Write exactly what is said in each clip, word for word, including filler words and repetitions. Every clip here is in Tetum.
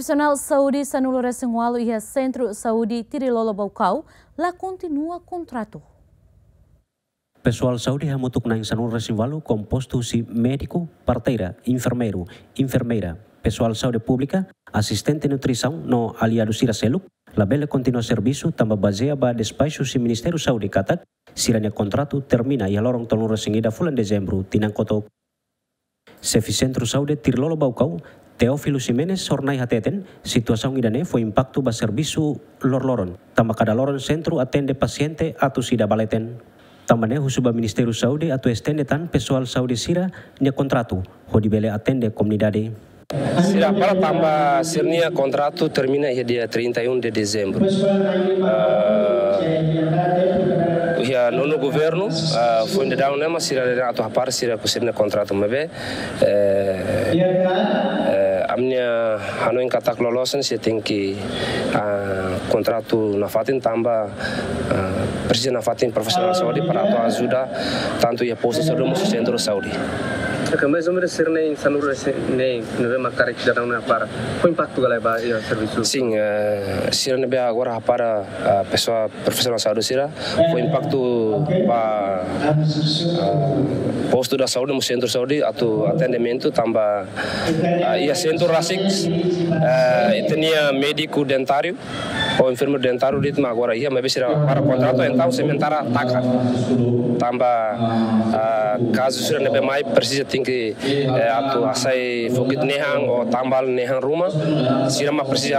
Profesionál saúde sanulu-resin-ualu iha Sentru Saúde Tirilolo Baucau la kontinua kontratu. Pesoál saúde hamutuk na'in sanulu-resin-ualu, kompostu husi médiku, parteira, enfermeiru, enfermeira, pesoál saúde públika, asistente nutrisaun no aliadu sira seluk, labele kontinua servisu tanba bazeia ba despaxu husi Ministériu Saúde katak sira-nia kontratu termina iha loron tolunulu-resin-ida fulan Dezembru tinan kotuk. Xefe Sentru Saúde Tirilolo Baucau, Teófilo Ximenes, jornais hateten, situasaun ida-ne'e fó impaktu ba servisu loroloron, tanba kada loron sentru atende pasiente atus ida ba leten. Tanba ne'e husu ba Ministériu Saúde atu estende tan pesoál saúde sira-nia kontratu hodi bele atende komunidade. Sira hapara tanba sira-nia kontratu termina iha dia trinta e um de dezembro. Ah, iha nonu governu, ah, foin daudaun ne'e mak sira dehan atu hapara sira-nia kontratu maibé, eh, eh, ami-nia hanoin katak loloos ne'e sira tenke, ah, kontratu nafatin tanba, ah, presiza nafatin profisionál saúde para atu ajuda tantu iha postu saúde mós sentru saúde. Oke, mais ou menos sira-ne'e sanulu-resin ne'e, ne'ebé mak karik daudaun ne'e hapara, fó impaktu ka lae ba iha servisu? Sin, eh, sira ne'ebé agora hapara, ah, pesoál profisionál saúde sira, fó impaktu ba, ah, postu saúde mós sentru saúde atu atendimentu tanba, ah, iha sentru rasik, eh, ita-nia médiku dentáriu ou enfermeiru dentáriu de'it mak agora iha, maibé sira hapara kontratu entaun sementara taka. Tanba, ah, kazu sira ne'ebé mai presiza tenke, eh, atu hasai fokit nehan ou tambal nehan ruma, sira mak presiza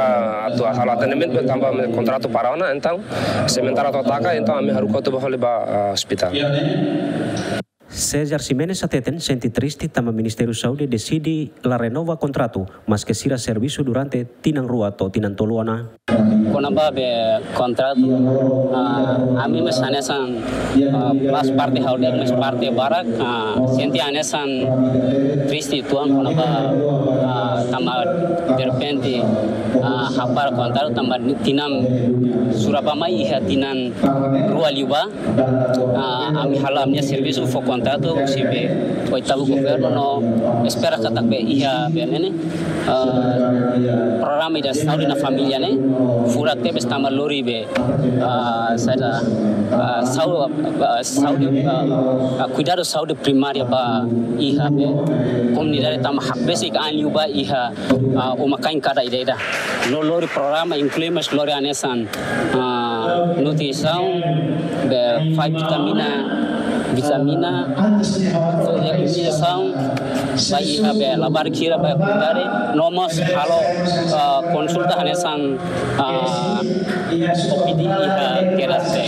atu halo atendimentu tanba kontratu para ona, entaun sementara to'o taka, entaun ami haruka atu bá fali ba, ah, ospitál. César Ximenes hateten sente triste tanba Ministériu Saúde deside la renova kontratu, maske sira servisu durante tinan rua to'o tinan tolu ona. Kona-ba be kontratu, ah, ami mós hanesan, ah, pas parte ha'u de'it mós parte barak, ah, sente hanesan triste uitoan kona-ba, ah, tanba derrepente, ah, hapara kontratu tanba tinan sura ba mai iha tinan rua liubá. Ah, ami hala'o ami-nia servisu fó kontratu husi be oitavu governu no espera katak be iha be ne'e ne'e, ah, programa ida saúde na família ne'e furak tebes tanba lori be, ah, saida, ah, sau-, ah, saúde, ah, ah, kuidadu saúde primária ba iha be komunidade tanba hakbesik ain liubá iha, ah, uma-kain kada ida-ida. No lori programa inklui mós lori hanesan, ah, nutrisaun, be fai vitamina, vitamina, fó iha nutrisaun, ba iha be labarik sira ba komunidade, no mós halo, ah, konsulta hanesan, ah, O P D iha kedas be,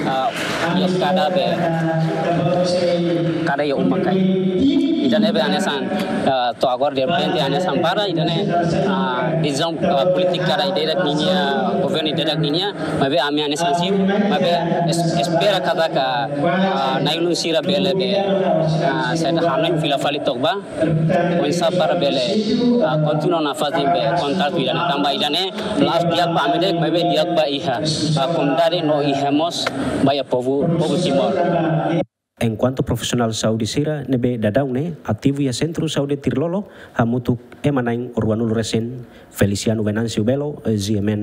ah, iha kada be, kada iha uma-kain. Ida-ne'e be hanesan, ah, to'o agora derrepente hanesan para, ida-ne'e, ah, desizaun, ah, polítika ida-idak ninia, governu ida-idak ninia, maibé ami hanesan simu, maibé es-, espera katak, ah, na'i-ulun sira bele be, ah, saida, hanoin fila fali took ba, oinsá para bele, ah, kontinua nafatin be kontratu ida-ne'e tanba ida-ne'e la'ós di'ak ba ami de'it, maibé di'ak ba iha, ah, komunidade no iha mós ba iha povu, povu Timor. Enkuantu profisionál saúde sira ne'ebé daudaun ne'e ativu iha Sentru Saúde Tirilolo hamutuk ema na'in ruanulu resin. Feliciano Venâncio Belo, G M N.